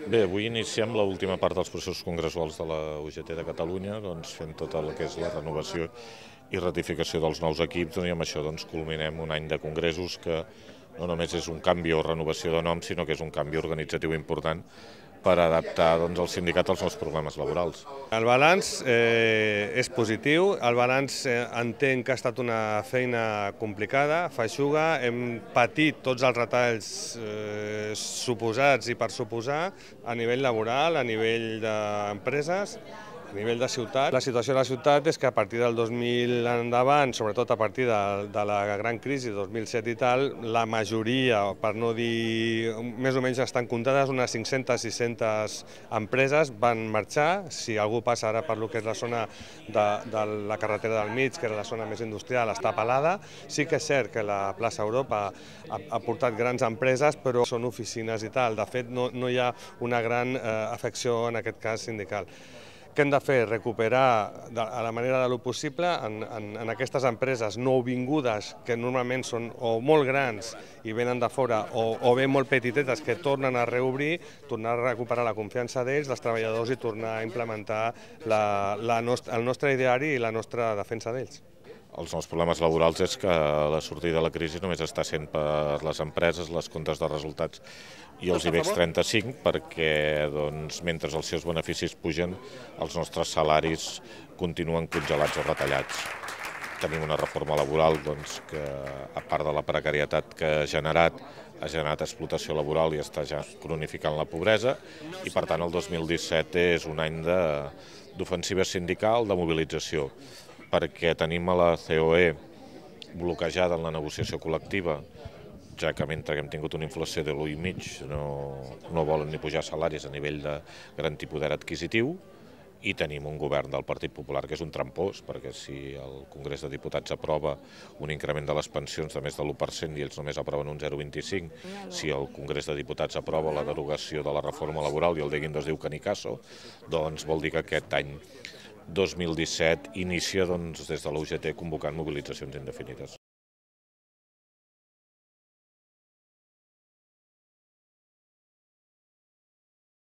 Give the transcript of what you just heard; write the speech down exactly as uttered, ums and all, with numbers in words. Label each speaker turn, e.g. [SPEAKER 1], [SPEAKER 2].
[SPEAKER 1] Bé, avui iniciem l'última part dels processos congressuals de la U G T de Catalunya, doncs, fent tot el que és la renovació i ratificació dels nous equips, i amb això doncs, culminem un any de congressos que no només és un canvi o renovació de nom, sinó que és un canvi organitzatiu important per adaptar doncs, el sindicat als nous problemes laborals.
[SPEAKER 2] El balanç eh, és positiu, el balanç eh, entenc que ha estat una feina complicada, feixuga, hem patit tots els retalls eh, suposats i per suposar a nivell laboral, a nivell d'empreses, a nivell de ciutat. La situació de la ciutat és que a partir del dos mil endavant, sobretot a partir de, de la gran crisi del dos mil set i tal, la majoria, per no dir més o menys estan comptades, unes cinc-centes sis-centes empreses van marxar. Si algú passa ara per lo que és la zona de, de la carretera del mig, que era la zona més industrial, està pelada. Sí que és cert que la plaça Europa ha, ha portat grans empreses, però són oficines i tal. De fet, no, no hi ha una gran eh, afecció, en aquest cas, sindical. Què hem de fer? Recuperar de, a la manera de lo possible en, en, en aquestes empreses nouvingudes que normalment són o molt grans i venen de fora o, o bé molt petitetes que tornen a reobrir, tornar a recuperar la confiança d'ells, dels treballadors i tornar a implementar la, la nostra, el nostre ideari i la nostra defensa d'ells.
[SPEAKER 1] Els nous problemes laborals és que la sortida de la crisi només està sent per les empreses, les comptes de resultats i els IBEX trenta-cinc, perquè doncs, mentre els seus beneficis pugen, els nostres salaris continuen congelats o retallats. Tenim una reforma laboral doncs, que, a part de la precarietat que ha generat, ha generat explotació laboral i està ja cronificant la pobresa, i per tant el dos mil disset és un any d'ofensiva sindical, de mobilització, perquè tenim a la C O E bloquejada en la negociació col·lectiva, ja que mentre hem tingut una inflació de l'u i mig no, no volen ni pujar salaris a nivell de garantir poder adquisitiu, i tenim un govern del Partit Popular que és un trampós, perquè si el Congrés de Diputats aprova un increment de les pensions de més de l'u per cent i ells només aproven un zero coma vint-i-cinc, si el Congrés de Diputats aprova la derogació de la reforma laboral i el de Guindos diu que ni caso, doncs vol dir que aquest any dos mil disset inicia doncs, des de la U G T convocant mobilitzacions indefinides.